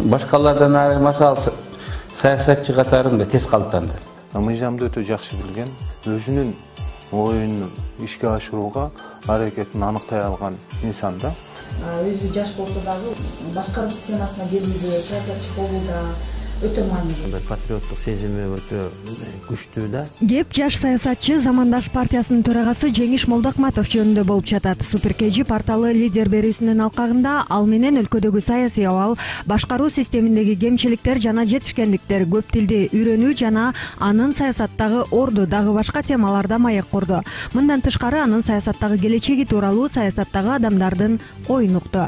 башкалардан айырмасы ал саясатчы катарында тез калыптанды. Мыйзамды өтө жакшы билген, өзүнүн оюн ишке ашырууга аракетин аныктай алган инсан да. Өзү жаш болсо дагы башкаруу системасына келүүдө, саясатчы болууда өтө маанилүү. Патриоттук сезими өтө күчтүү да. Кеп жаш саясатчы Замандаш партиясынын төрагасы Жеңиш Молдокматов жөнүндө болуп жатат. Суперкежи порталы лидер берүүсүнүн алкагында ал менен өлкөдөгү саясий абал, башкаруу системиндеги кемчиликтер жана жетишкендиктер, көп тилди үйрөнүү жана анын саясаттагы орду дагы башка темаларда маек курду. Мындан тышкары анын саясаттагы келечеги тууралуу саясаттагы адамдардын оюн укту.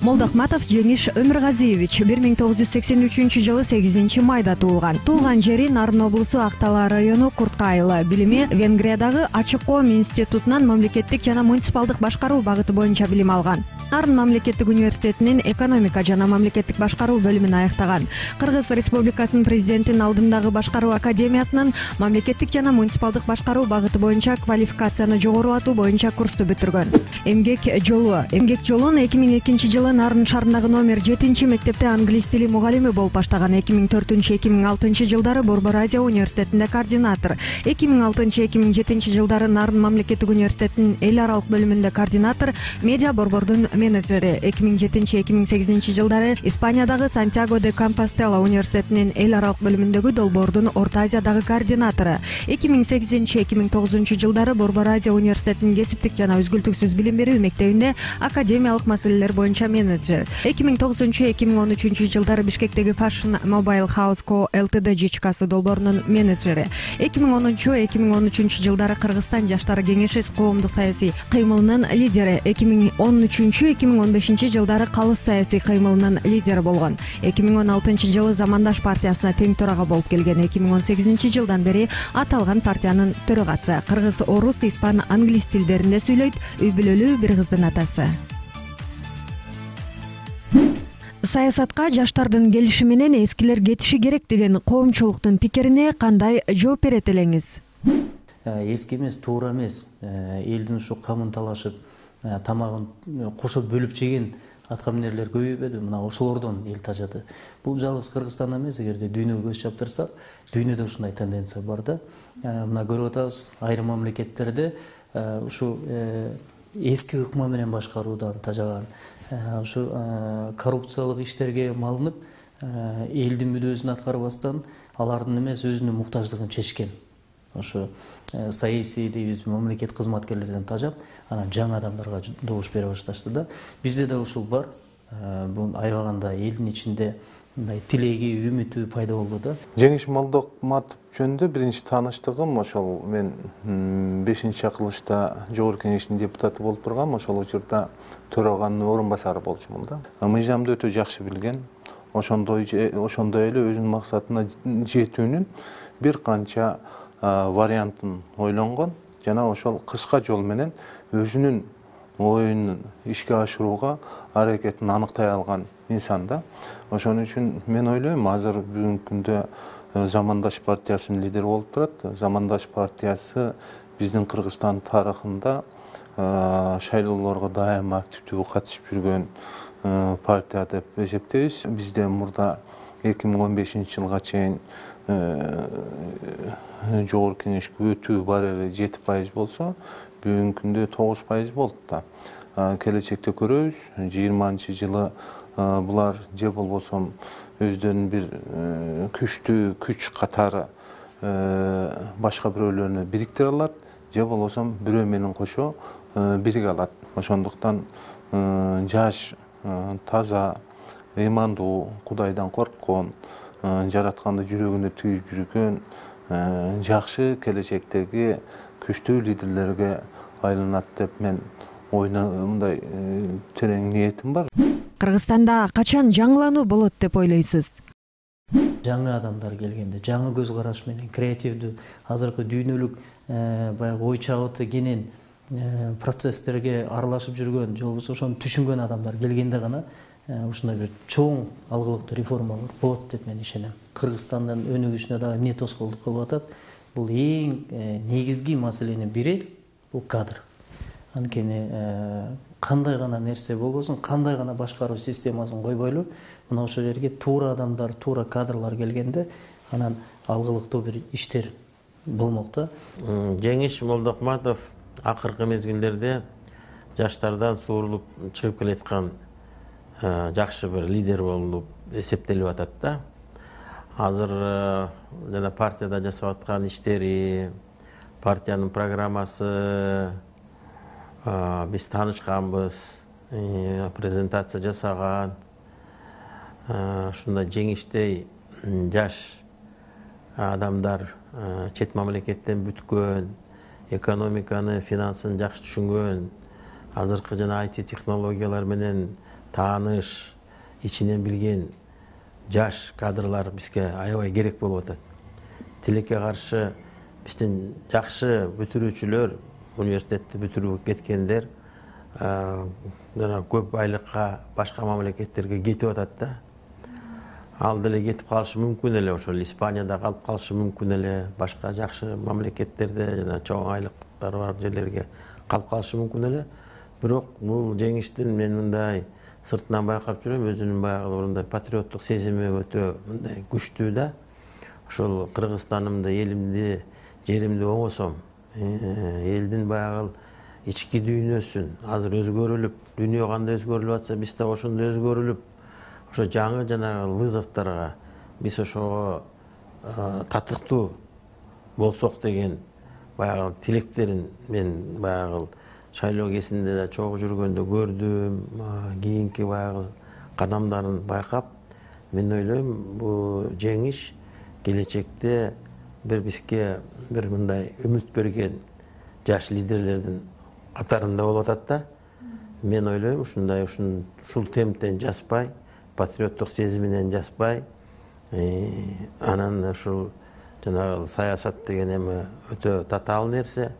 Молдокматов Жеңиш Өмүргазиевич 1983 8 майда туулган. Туулган жери Нарын облусу Актала району Курткайылы. Билими Венгриядагы Ачык Коом институтунан мамлекеттик жана муниципалдык башкаруу багыты боюнча билим алган. Нарын мамлекеттик университетинин экономика жана мамлекеттик башкаруу бөлүмүн аяктаган. Кыргыз Республикасынын президентинин алдындагы башкаруу академиясынын мамлекеттик жана муниципалдык башкаруу багыты боюнча квалификацияны жогорулатуу боюнча курсту бүтүргөн. Эмгек жолун 2002 жылы Нарын шаарындагы номер 7 мектепте англис тили мугалими болуп баштаган. 2004-2006 жылдары Борбор Азия университетинде координатор, 2006-2007 жылдары Нарын мамлекеттик университетинин эл аралык бөлүмүндө координатор, медиа борбордун менеджери. 2007-2008 жылдары Испаниядагы Сантьяго де Компостела университетинин эл аралык бөлүмүндөгү долбоордун Орто Азиядагы координатору. 2008-2009 жылдары Борбор Азия университетинин кесиптик жана үзгүлтүксүз билим берүү мектебинде академиялык маселелер боюнча менеджер. 2009-2013 жылдары Бишкектеги Fashion Mobile House Co Ltd жичкасы долбоорунун менеджери. 2010-2013 жылдары Кыргызстан жаштары кеңеши коомдук саясий кыймылынын лидери. 2013-2015 жылдары Калыс саясий кыймылынын лидери болгон. 2016 жылы Замандаш партиясына тең төрага болуп келген. 2018 жылдан бери аталган партиянын төрагасы. Кыргыз, орус, испан, англис тилдеринде сүйлөйт. Үй бүлөлүү бир кыздын атасы. Саясатка жаштардын келиши менен эскилер кетиши керек деген коомчулуктун пикирине кандай жооп берет элеңиз? Эски эмес, туура эмес. Элдин ушу камын талашып, тамагын кошо бөлүп жеген аткаминерлер көбөйбөдү. Мына ошолордон эл тажады. Бул жалгыз Кыргызстанда эмес, эгерде дүйнөгө көз чаптырсак, дүйнөдө ушундай тенденция бар да. Мына көрүп атабыз, айрым мамлекеттерде ушу эски ыкма менен башкаруудан тажаган, ушу коррупциялык иштерге малынып, элдин мүдөөсүн аткарбастан алардын эмес өзүнүн муктаждыгын чечкен. Ошо саясий дейбиз, мамлекет кызматкерлерден тажап, анан жаңы адамдарга добуш бере башташты да. Бизде да ушул бар. Бул аябаганда элдин ичинде мындай тилеги, үмүтү пайда болду да. Жеңиш Молдокматов жөнүндө биринчи тааныштыгым ошол мен 5-акылышта Жогорку Кеңештин депутаты болуп тургам, ошол учурда төраганын орун басары болчумун да. Мыйзамды өтө жакшы билген, ошондой эле өзүнүн максатына жетүүнүн бир канча вариантын ойлонгон жана ошол кыска жол менен өзүнүн оюн ишке ашырууга аракетин аныктай алган инсан да. Ошон үчүн мен ойлойм, азыр бүгүнкү күндө Замандаш партиясынын лидери болуп турат. Замандаш партиясы биздин Кыргызстан тарыхында шайлоолорго дайыма активдүү катышып жүргөн партия деп эсептейбиз. Бизде мурда 2015 жылга чейин Жогорку Кеңешке өтүү барери 7% болсо, бүгүнкү күндө 9% болду да. Келечекте көрөбүз, 20-жылы булар же болбосо өздөрүнүн бир күчтүү күч катары башка бирөөлөрүнү бириктире алат, же болбосо бирөө менен кошо бириге алат. Ошондуктан жаш, таза, ыймандуу, Кудайдан корккон, жаратканды жүрөгүнө түйүп жүргөн, жакшы келечектеги күчтүү лидерлерге айланат деп мен мындай терең ниетим бар. Кыргызстанда качан жаңылануу болот деп ойлойсуз? Жаңы адамдар келгенде, жаңы көз караш менен, креативдүү, азыркы дүйнөлүк баягы ой чабыты кенен процесстерге аралашып жүргөн, же болбосо ошону түшүнгөн адамдар келгенде гана ушундай бир чоң алгылыктуу реформалар болот деп мен ишенем. Кыргызстандын өнүгүшүнө дагы эмне тоскоолдук кылып атат? Бул эң негизги маселенин бири бул кадр. анткени кандай гана нерсе болбосун, кандай гана башкаруу системасын койбойлу, мына ошол жерге туура адамдар, туура кадрлар келгенде анан алгылыктуу бир иштер болмок да. Жеңиш Молдокматов акыркы мезгилдерде жаштардан суурулуп чыгып келаткан жакшы бир лидер болуп эсептелип атат да. Азыр жана партияда жасап аткан иштери, партиянын программасы биз таанышканбыз, презентация жасаган, ушундай жеңиштей жаш адамдар, чет мамлекеттен бүткөн, экономиканы, финансын жакшы түшүнгөн, азыркы жана IT технологиялар менен тааныш, ичинен билген жаш кадрлар бизге аябай керек болуп атат. Тилекке каршы биздин жакшы бүтүрүүчүлөр, университетти бүтүрүп кеткендер жана көп айлыкка башка мамлекеттерге кетип атат да. Ал деле кетип калышы мүмкүн эле, ошол Испанияда калып калышы мүмкүн эле, башка жакшы мамлекеттерде жана чоң айлыктары бар жерлерге калып калышы мүмкүн эле. Бирок бул жеңиштин мен мындай сыртынан байкап жүрөм, өзүнүн баягы мындай патриоттук сезими өтө мындай күчтүү да. Ошол Кыргызстанымды, элимди, жеримди оңосом, элдин баягы ички дүйнөсүн азыр өзгөрүлүп, дүйнө кандай өзгөрүлүп атса, биз да ошондой өзгөрүлүп, ошо жаңы жана вызовторго биз ошого татыктуу болсок деген баягы тилектерин мен баягы шайлоо кезинде да чогуу жүргөндө көрдүм, кийинки баягы кадамдарын байкап, мен ойлойм, бул жеңиш келечекте бир бизге бир мындай үмүт берген жаш лидерлердин катарында болуп атат да. Мен ойлойм, ушундай ушул темптен жазбай, патриоттук сезиминен жазбай, анан ушул жанагы саясат деген эми өтө татаал нерсе,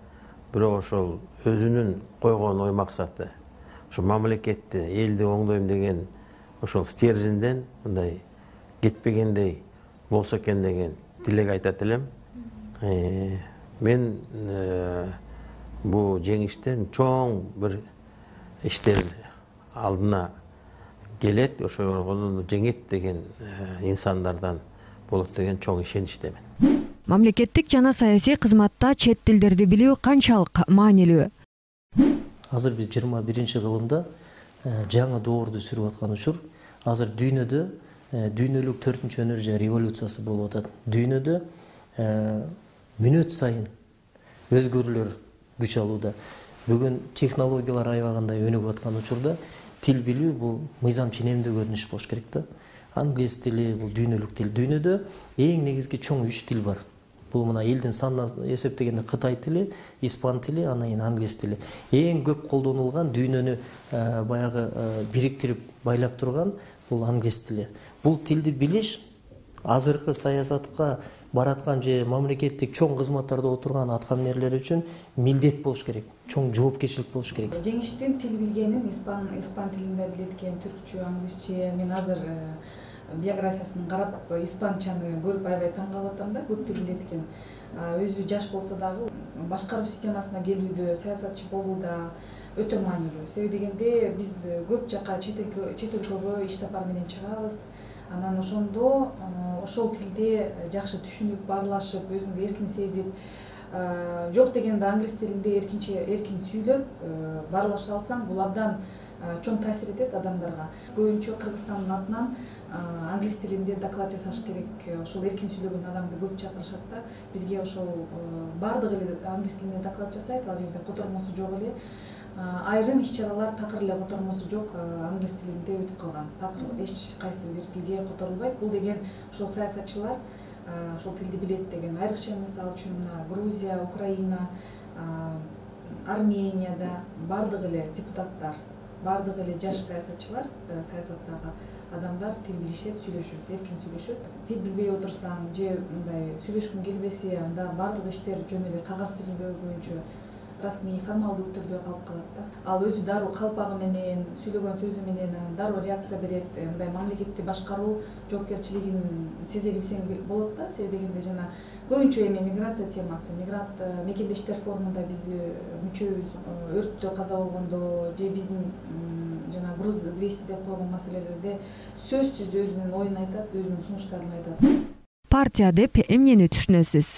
бирок ошол өзүнүн койгон ой максаты, ошо мамлекетти, элди оңдойм деген ошол стержинден мындай кетпегендей болсо экен деген тилек айтат элем. Мен бул жеңиштен чоң бир иштер алдына келет, ошол жеңет деген инсандардан болот деген чоң ишеничтемин. Мамлекеттик жана саясий кызматта чет тилдерди билүү канчалык маанилүү? Азыр биз 21-кылымда жаңы доорду сүрүп аткан учур. Азыр дүйнөдө дүйнөлүк 4-чү энергия революциясы болуп атат. Дүйнөдө мүнөт сайын өзгөрүүлөр күч алууда. Бүгүн технологиялар аябагандай өнүгүп аткан учурда тил билүү бул мыйзам ченемдүү көрүнүш болуш керек да. Англис тили бул дүйнөлүк тил. Дүйнөдө эң негизги чоң 3 тил бар. Бул мына элдин санына эсептегенде Кытай тили, испан тили, анан кийин англис тили. Эң көп колдонулган, дүйнөнү баягы бириктирип байлап турган бул англис тили. Бул тилди билиш азыркы саясатка бараткан же мамлекеттик чоң кызматтарда отурган аткаминерлер үчүн милдет болуш керек, чоң жоопкерчилик болуш керек. Жеңиштин тил билгенин испан тилинде билет экен, түркчө, англисче. Мен азыр биографиясын карап, испанчаны көрүп аябай таң калып атам да, көп тил билет экен. Өзү жаш болсо дагы башкаруу системасына келүүдө, саясатчы болууда өтө маанилүү. Себеби дегенде биз көп жака чет өлкөгө иш сапар менен чыгабыз. Анан ошондо ошол тилде жакшы түшүнүп, баарлашып, өзүңдү эркин сезип, жок дегенде англис тилинде эркин сүйлөп, баарлаша алсаң, бул абдан чоң таасир этет адамдарга. Көбүнчө Кыргызстандын атынан англис тилинде доклад жасаш керек. Ошол эркин сүйлөгөн адамды көп чакырышат да. Бизге ошол бардыгы эле англис тилинде доклад жасайт, ал жерде котормосу жок эле. Айрым иш-чаралар такыр эле котормосу жок, англис тилинде өтүп калган. Такыр эч кайсы бир тилге которулбайт. Бул деген ошол саясатчылар ошол тилди билет деген. Айрыкча мисалы үчүн Грузия, Украина, Арменияда бардыгы эле депутаттар, бардыгы эле жаш саясатчылар, саясаттагы адамдар тил билишет, сүйлөшөт, эркин сүйлөшөт. Тил билбей отурсаң же мындай сүйлөшкүң келбесе, анда бардык иштер жөн эле кагаз түрүндө көбүнчө расмий формалдуу түрдө калып калат да. Ал өзү дароо калпагы менен, сүйлөгөн сөзү менен дароо реакция берет. Мындай мамлекетти башкаруу жоопкерчилигин сезе билсең болот да. Себеби дегенде жана көбүнчө эми миграция темасы, мигрант мекендештер форумунда биз мүчөбүз, өрттө каза болгондо же биздин жана груз 200 деп койгон маселелерде сөзсүз өзүнүн оюн айтат, өзүнүн сунуштарын айтат. Партия деп эмнени түшүнөсүз?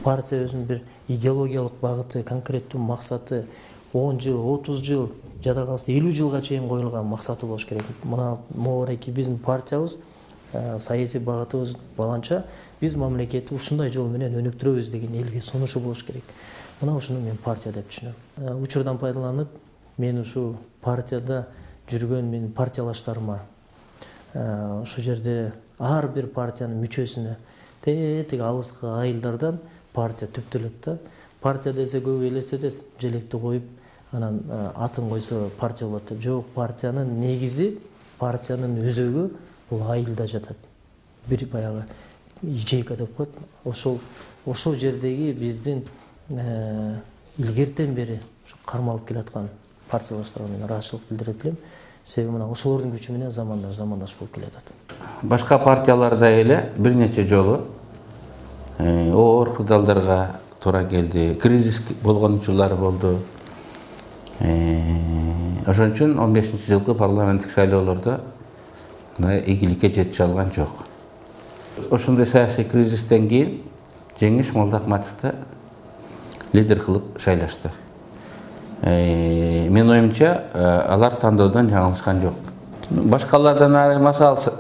Партия өзүнүн бир идеологиялык багыты, конкреттүү максаты 10 жыл, 30 жыл, жада калса 50 жылга чейин коюлган максаты болуш керек. Мына могуреки биздин партиябыз, саясий багытыбыз баланча биз мамлекетти ушундай жол менен өнүктүрөбүз деген элге сунушу болуш керек. Мына ушуну мен партия деп түшүнөм. Учурдан пайдаланып, мен ушу партияда жүргөн менин партиялаштарыма ушул жерде ар бир партиянын мүчөсүнө тетиги алыскы айылдардан партия түптөлөт да. Партия десе көбү элестетет, желекти коюп, анан атын койсо партия болот деп. Жок, партиянын негизи, партиянын өзөгү бул айылда жатат. Бир баягы ячейка деп коет. Ошол жердеги биздин илгертен бери кармалып келаткан партиялаштарга мен ыраазычылык билдирет элем. Себеби мына ошолордун күчү менен замандаш болуп келатат. Башка партияларда эле бир нече жолу оор кырдаалдарга туура келди. Кризис болгон учурлары болду. Ошон үчүн 15-жылкы парламенттик шайлоолордо ийгиликке жетише алган жок. Ошондой саясий кризистен кийин Жеңиш Молдоахматовду лидер кылып шайлашты. Мен оюмча, алар тандоодон жаңылышкан жок. Башкалардан айырмасы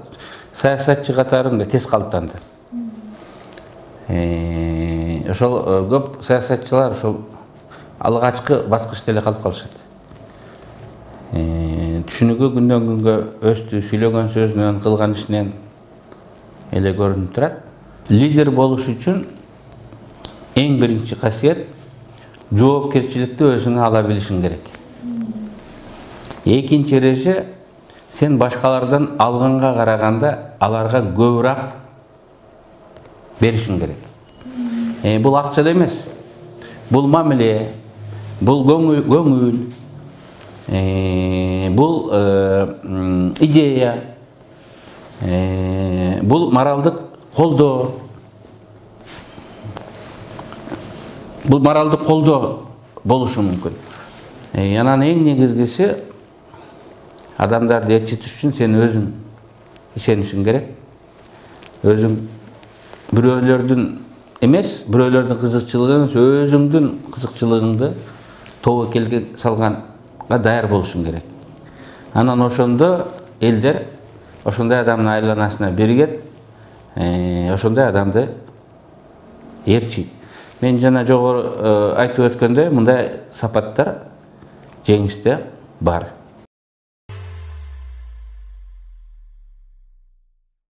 саясатчы катарында тез калыптанды. Ошол көп саясатчылар ошол алгачкы баскычта эле калып калышат. Түшүнүгү күндөн күнгө өстү, сүйлөгөн сөзүнөн, кылган ишинен эле көрүнүп турат. Лидер болуш үчүн эң биринчи касиет жоопкерчиликти өзүңө ала билишиң керек. Экинчи эреже, сен башкалардан алганга караганда аларга көбүрөөк беришиң керек. Бул акча эмес. Бул мамиле, бул көңүл, бул идея, бул моралдык колдоо. Бул моралдык колдоо болушу мүмкүн. Анан эң негизгиси, адамдарды ээрчитиш үчүн сен өзүң ишенишиң керек. Өзүң бирөөлөрдүн эмес, бирөөлөрдүн кызыкчылыгын эмес, өзүңдүн кызыкчылыгыңды тобокелге салганга даяр болушуң керек. Анан ошондо элдер ошондой адамдын айланасына биригет, ошондой адамды ээрчийт. Мен жана жогору айтып өткөндөй, мындай сапаттар Жеңиште бар.